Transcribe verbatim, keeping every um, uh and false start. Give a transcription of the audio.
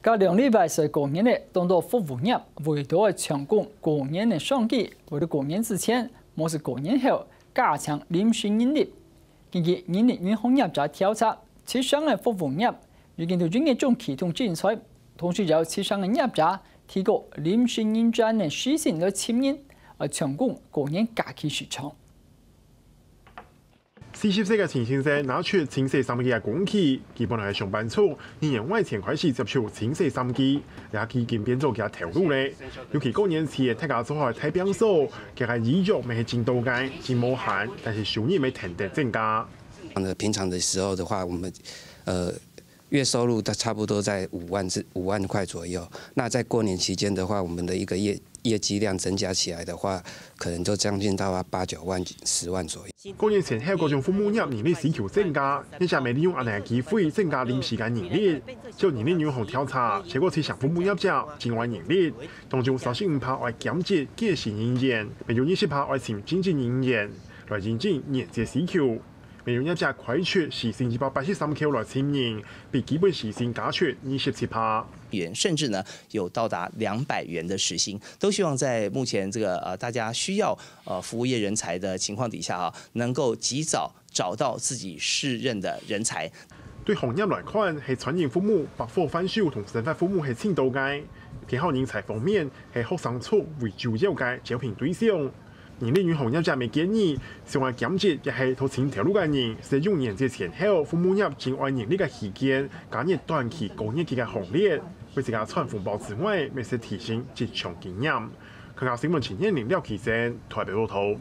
該兩禮拜係過年咧，當多服務業為著愛搶攻過年个商機，為著過年之前，無就過年後，加請臨時人力。根據人力銀行業者調查，七成个服務業已經在一月中啟動徵才，同時有七成个業者提供臨時人專个時薪來請人，愛搶攻過年假期市場。 四十歲个陳先生拿出清洗衫機个工具，佢本來係上班族，二年外前開始接觸清洗衫機，這下已經變做佢个頭路咧。尤其過年前，大家做好大拚掃，佢个衣著乜係整到个，真無閒，但係收入乜定定增加。呃，平常的時候的話，我們，呃，月收入大差不多在五萬至五萬塊左右。那在過年期間的話，我們的一個業業績量增加起來的話，可能就將近到八九萬、十萬左右。過年前後，各種服務業人力需求增加，業者乜利用恁樣个機會增加臨時个人力。照人力銀行調查，超過七成服務業者真愛人力，當中三十五趴愛兼職計時人員，乜有二十趴愛請正職人員，來應付年節需求。 乜有業者開出時薪一百八十三箍來請人，比基本時薪加出二十七趴。元，甚至呢有到達兩百元的時薪，都希望在目前這個呃大家需要呃服務業人才的情況底下啊，能夠及早找到自己適任的人才。對行業來看，係餐飲服務、百貨販售同生活服務係盡多个。偏好人才方面，係學生族為主要个招聘對象。 人力銀行業者乜建議，想愛兼職也係討尋頭路个人，使用年節前後服務業真愛人力个時間，加入短期高月給个行列。為自家賺紅包之外，乜係提升職場經驗。客家新聞陳彥霖、廖啟珍，台北報導。